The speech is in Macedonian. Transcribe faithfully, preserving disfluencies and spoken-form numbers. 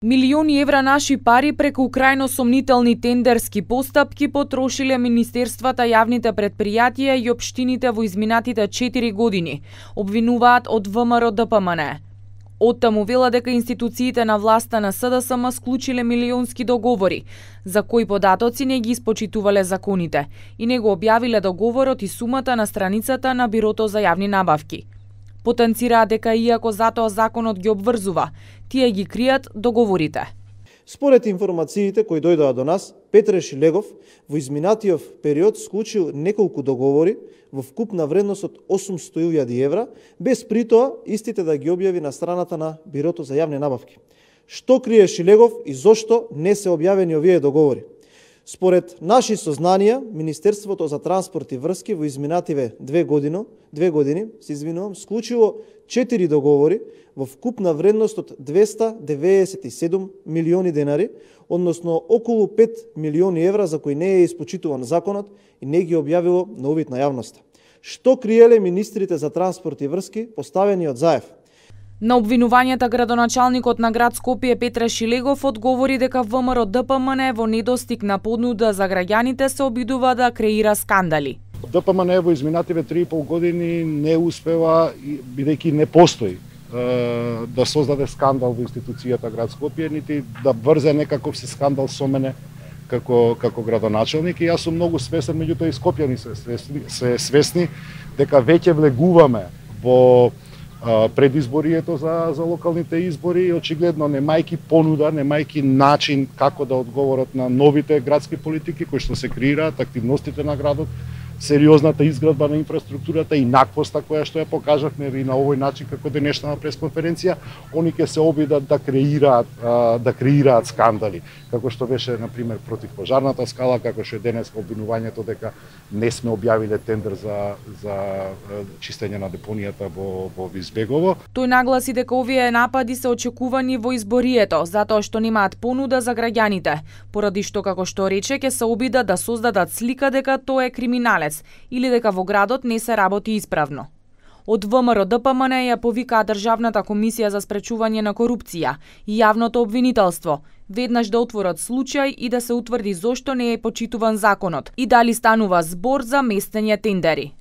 Милиони евра наши пари преку крајно сомнителни тендерски постапки потрошиле министерствата, јавните претпријатија и општините во изминатите четири години, обвинуваат од ВМРО Д П М Н. Оттаму вела дека институциите на власта на С Д С М склучиле милионски договори, за кои податоци не ги испочитувале законите и не го објавиле договорот и сумата на страницата на Бирото за јавни набавки. Потенцираат дека иако затоа законот ги обврзува, тие ги кријат договорите. Според информациите кои дојдоа до нас, Петре Шилегов во изминатиот период склучил неколку договори во вкупна вредност од осумстотини илјади евра, без притоа истите да ги објави на страната на Бирото за јавни набавки. Што крие Шилегов и зошто не се објавени овие договори? Според наши сознанија, Министерството за транспорт и врски во изминативе две години, две години, се извинувам, склучило четири договори во вкупна вредност од двеста деведесет и седум милиони денари, односно околу пет милиони евра за кои не е испочитуван законот и не ги објавило на увид на јавноста. Што криеле министрите за транспорт и врски поставени од Заев? На обвинувањата градоначалникот на град Скопје Петре Шилегов одговори дека ВМРО Д П М Н во недостиг на понуда за граѓаните се обидува да креира скандали. Д П М Н во изминативе три и пол години не успева, бидејќи не постои, да создаде скандал во институцијата град Скопје, нити да врзе некаков си скандал со мене како како градоначалник, и јас сум многу свесен, меѓутоа и скопјани се свесни, се свесни дека веќе влегуваме во предизборието за за локалните избори и очигледно немајки понуда, немајки начин како да одговорат на новите градски политики кои што се креираат, активностите на градот, сериозната изградба на инфраструктурата и наквоста која што ја покажавме и на овој начин како денешна пресконференција, они ќе се обидат да креираат да креираат скандали, како што беше на пример против пожарната скала, како што е денес обвинувањето дека не сме објавиле тендер за за чистење на депонијата во во Визбегово. Тој нагласи дека овие напади се очекувани во изборието, затоа што немаат понуда за граѓаните, поради што, како што рече, ќе се обидат да создадат слика дека тој е криминалец или дека во градот не се работи исправно. Од ВМРО Д П М Н ја повикаа Државната комисија за спречување на корупција и јавното обвинителство, веднаш да отворат случај и да се утврди зошто не е почитуван законот и дали станува збор за местење тендери.